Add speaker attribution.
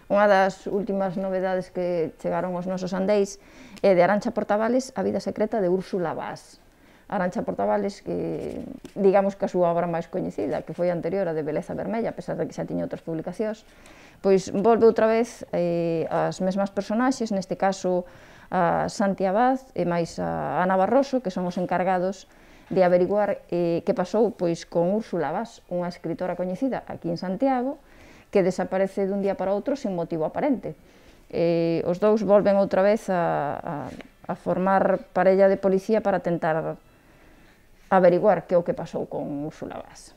Speaker 1: Unha das últimas novedades que chegaron aos nosos andeis é de Arantxa Portavales, A vida secreta de Úrsula Bas. Arantxa Portavales, que digamos que a súa obra máis coñecida, que foi anterior a de Beleza Vermella, a pesar de que xa tiña outras publicacións, pois volve outra vez as mesmas personaxes, neste caso a Santi Abad e máis a Ana Barroso, que son os encargados de averiguar que pasou pois con Úrsula Bas, unha escritora coñecida aquí en Santiago, que desaparece dun día para outro sen motivo aparente. Os dous volven outra vez a formar parella de policía para tentar averiguar que é o que pasou con Úrsula Bas.